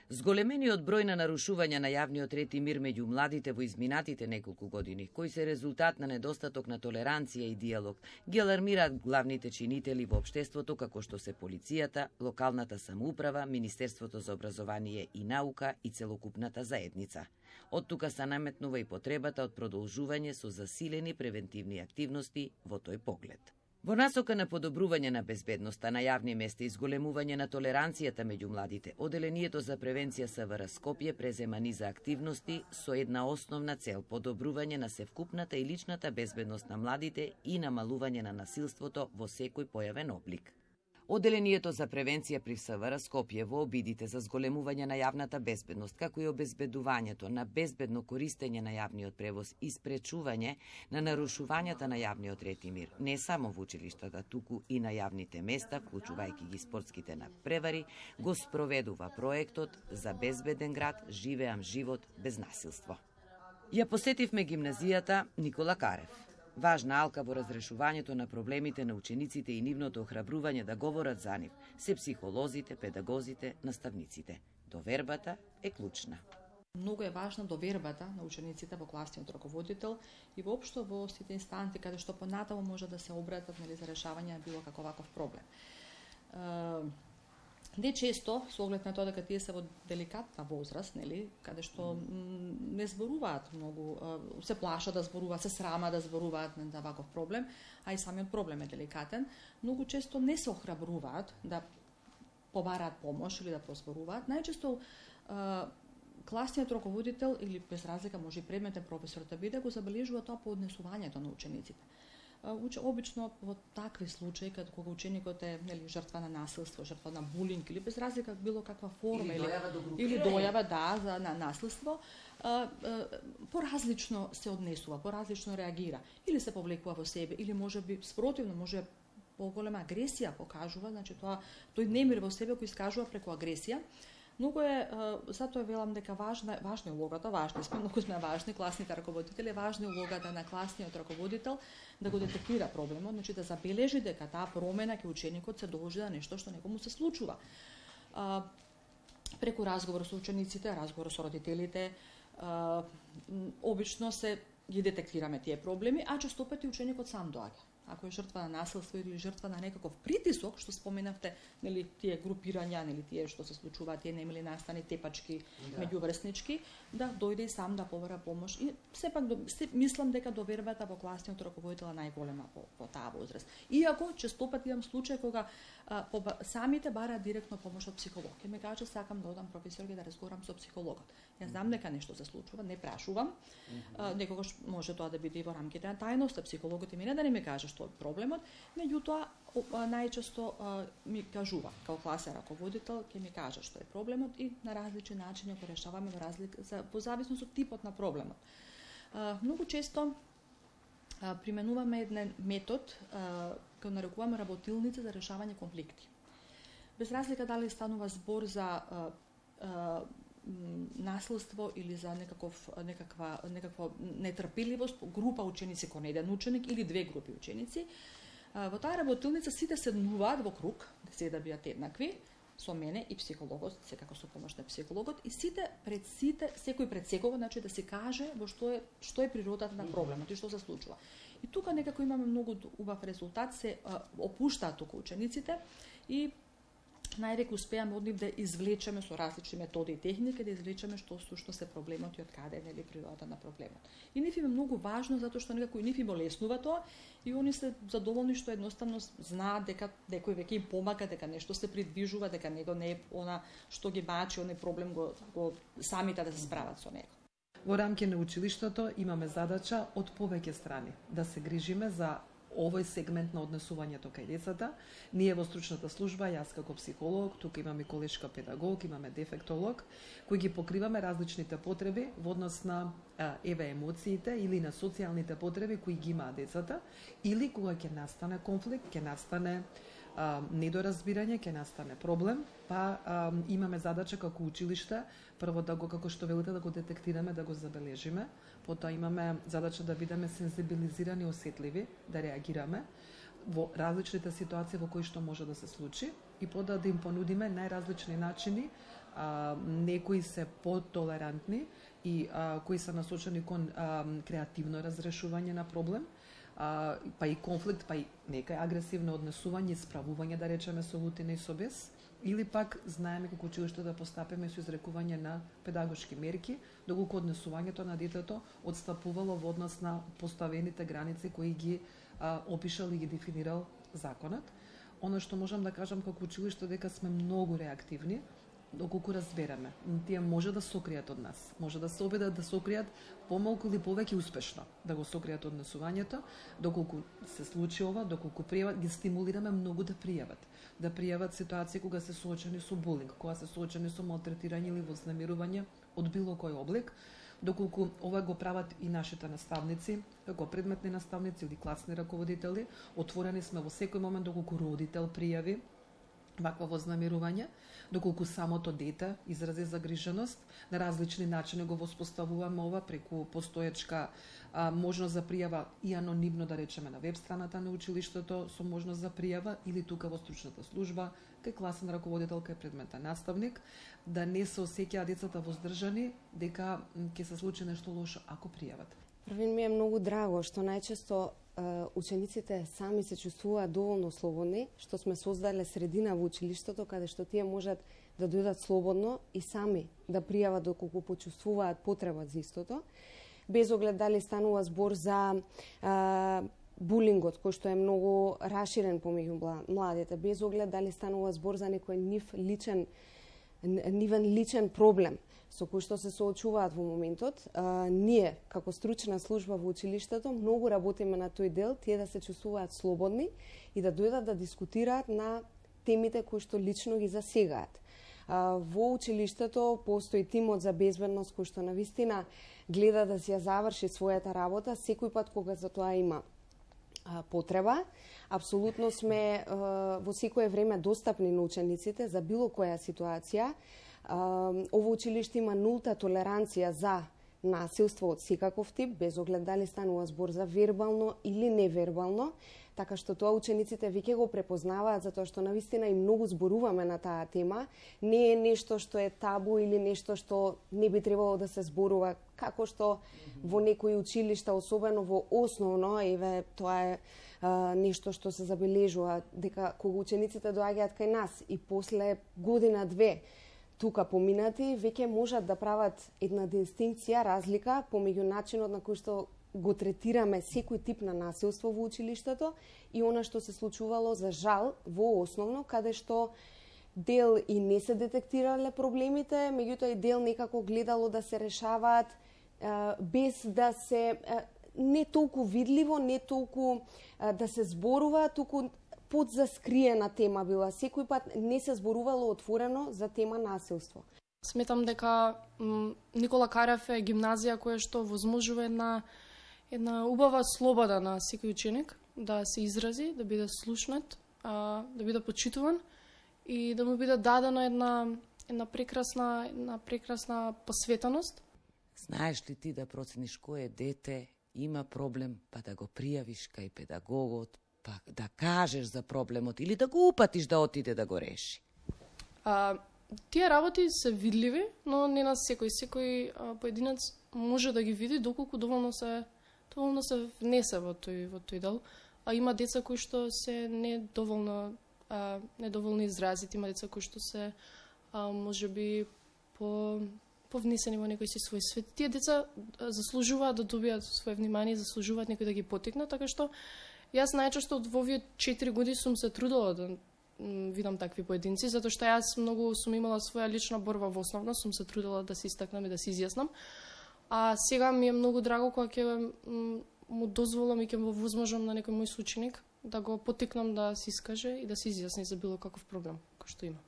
Зголемениот број на нарушувања на јавниот ред и мир меѓу младите во изминатите неколку години, кои се резултат на недостаток на толеранција и диалог, ги алармираат главните чинители во општеството како што се полицијата, локалната самоуправа, Министерството за образование и наука и целокупната заедница. Од тука се наметнува и потребата од продолжување со засилени превентивни активности во тој поглед. Во насока на подобрување на безбедноста на јавни места и зголемување на толеранцијата меѓу младите, Оделението за превенција СВР Скопје презема низа активности со една основна цел – подобрување на севкупната и личната безбедност на младите и намалување на насилството во секој појавен облик. Оделението за превенција при СВР Скопје во обидите за зголемување на јавната безбедност, како и обезбедувањето на безбедно користење на јавниот превоз и спречување на нарушувањата на јавниот ред и мир, не само во училиштата, туку и на јавните места, вклучувајќи ги спортските надпревари, го спроведува проектот за безбеден град, живеам живот без насилство. Ја посетивме гимназијата Никола Карев. Важна алка во разрешувањето на проблемите на учениците и нивното охрабрување да говорат за нив се психолозите, педагозите, наставниците. Довербата е клучна. Многу е важна довербата на учениците во класниот раководител и воопшто во сите инстанти каде што понатаму може да се обратат за решавање на било каков ваков проблем. Не често, со оглед на тоа дека тие се во деликатна возраст, каде што не зборуваат многу, се плашат да зборуваат, се срама да зборуваат на ваков проблем, а и самиот проблем е деликатен, многу често не се охрабруваат да побараат помош или да прозборуваат. Најчесто класниот раководител или без разлика може и предметен професор да биде, го забележува тоа по однесувањето на учениците. Обично во такви случаи, кога ученикот е жртва на насилство, жртва на булинг или без разлика било каква форма или дојава на насилство, поразлично се однесува, поразлично реагира, или се повлекува во себе, или може би спротивно, може поголема агресија покажува, значи тој немир во себе кој искажува преку агресија. Многу е, затоа велам дека важна е улогата, многу сме важни, класните раководители, важна е улогата на класниот раководител да го детектира проблемот, значи да забележи дека таа промена ке ученикот се должи да нешто што некому се случува. Преку разговор со учениците, разговор со родителите, обично се ги детектираме тие проблеми, а често пати ученикот сам доаѓа. Ако е жртва на насилство или жртва на некаков притисок, што споменавте, тие групирања, тие што се случуваат, тие немили настани тепачки меѓуврснички, да дојде и сам да побара помош. И сепак мислам дека довербата во класниот раководител е најголема во таа возраст. Иако често пати имам случаи кога самите бараат директно помош од психолог. Ке ме каже сакам да одам професорке да разговарам со психологот. Јас знам дека нешто се случува, не прашувам. Некогаш може тоа да биде и во рамките на тајноста, психологот и мене да не ми каже што е проблемот, меѓутоа најчесто ми кажува као класен раководител, ќе ми каже што е проблемот и на различни начини го решаваме во зависност од типот на проблемот. Многу често применуваме еден метод кој нарекуваме работилница за решавање конфликти. Без разлика дали станува збор за насилство или за некаква нетрпеливост, група ученици кон еден ученик или две групи ученици, во таа работилница сите седнуваат во круг, се да бидат еднакви, со мене и психологот, секако со помош на психологот, и секој пред секого, значи да се каже во што е природата на проблемот и што се случува. И тука некако имаме многу убав резултат, се опуштаат тука учениците и највеќе успеаме од нив да извлечеме со различни методи и техники, да извлечеме што се проблемот и од каде е природата на проблемот. И нив им е многу важно, затоа што некако и нив им олеснува тоа и они се задоволни што едноставно знаат дека некој веќе им помага, дека нешто се придвижува, дека него не е она што ги бачи, оној проблем го самите да се справат со него. Во рамки на училиштето имаме задача од повеќе страни да се грижиме за овој сегмент на однесувањето кај децата. Ние во стручната служба, јас како психолог, тука имаме колешка педагог, имаме дефектолог, кои ги покриваме различните потреби во однос на емоциите или на социјалните потреби кои ги имаат децата, или кога ќе настане конфликт, ќе настане недоразбирање, ќе настане проблем, па имаме задача како училиште, прво да го, како што велите, да го детектираме, да го забележиме, потоа имаме задача да бидеме сензибилизирани, осетливи, да реагираме во различните ситуации во кои што може да се случи и потоа да им понудиме најразлични начини некои се потолерантни и кои се насочени кон креативно разрешување на проблем, па и конфликт, па и некај агресивно однесување, справување, да речеме, со лутина и со бес, или пак знаеме како училиште да постапиме со изрекување на педагошки мерки, доколку однесувањето на детето отстапувало во однос на поставените граници кои ги опишал и ги дефинирал законот. Оно што можам да кажам како училиште дека сме многу реактивни, доколку разбереме. Тие може да сокријат од нас, може да се обидат да сокријат помалку или повеќе успешно, да го сокријат однесувањето, доколку се случи ова, доколку пријават, ги стимулираме многу да пријават ситуации кога се соочени со булинг, кога се соочени со малтретирање или вознемирување од било кој облик, доколку ова го прават и нашите наставници, како предметни наставници или класни раководители. Отворени сме во секој момент доколку родител пријави вакво вознемирување, доколку самото дете изрази загриженост, на различни начини го воспоставуваме ова преку постоечка можност за пријава и анонимно, да речеме, на веб страната на училиштето со можност за пријава или тука во стручната служба, кај класен раководител, кај предметен наставник, да не се осеќаат децата воздржани дека ќе се случи нешто лошо ако пријават. Првин ми е многу драго што најчесто учениците сами се чувствуваат доволно слободни, што сме создале средина во училиштето каде што тие можат да дојдат слободно и сами да пријават доколку почувствуваат потреба за истото, без оглед дали станува збор за булингот, кој што е многу раширен помеѓу младите, без оглед дали станува збор за некој нивен личен проблем со кој што се соочуваат во моментот. Ние, како стручна служба во училиштето, многу работиме на тој дел, тие да се чувствуваат слободни и да дојдат да дискутираат на темите кои што лично ги засегаат. Во училиштето постои тимот за безбедност кој што навистина гледа да си ја заврши својата работа секој пат кога за тоа има потреба. Апсолутно сме во секое време достапни на учениците за било која ситуација. Ово училиште има нулта толеранција за насилство од секаков тип, без оглед дали станува збор за вербално или невербално, така што тоа учениците веќе го препознаваат, затоа што навистина и многу зборуваме на таа тема. Не е нешто што е табу или нешто што не би требало да се зборува, како што во некои училишта, особено во основно, тоа е нешто што се забележува, дека кога учениците доаѓаат кај нас и после година-две тука поминати, веќе можат да прават една дистинкција, разлика помеѓу начинот на кој што го третираме секој тип на насилство во училиштето и она што се случувало за жал во основно, каде што дел и не се детектирале проблемите, меѓутоа и дел некако гледало да се решаваат без да се не толку видливо, не толку да се зборува, туку под заскриена тема била. Секој пат не се зборувало отворено за тема насилство. Сметам дека Никола Карев е гимназија која што возможува една убава слобода на секој ученик да се изрази, да биде слушнат, да биде почитуван и да му биде дадена една прекрасна посветеност. Знаеш ли ти да процениш кое дете има проблем, па да го пријавиш кај педагогот, па да кажеш за проблемот или да го упатиш да отиде да го реши? Тие работи се видливи, но не на секој. Секој поединец може да ги види доколку доволно се внесе во тој дел. Има деца кои што се недоволно изразити, има деца кои што се можеби повнесени во некој си свој свет. Тие деца заслужуваат да добијат своје внимание, заслужуваат некој да ги поттикне, така што јас најчесто во овие 4 години сум се трудела да видам такви поединци, затоа што јас многу сум имала своја лична борба во основно, сум се трудела да се истакнам и да се изјаснам. А сега ми е многу драго кога ќе му дозволам и ќе му возможам на некој мој соученик да го поттикнам да се искаже и да се изјасни за било каков проблем кој што има.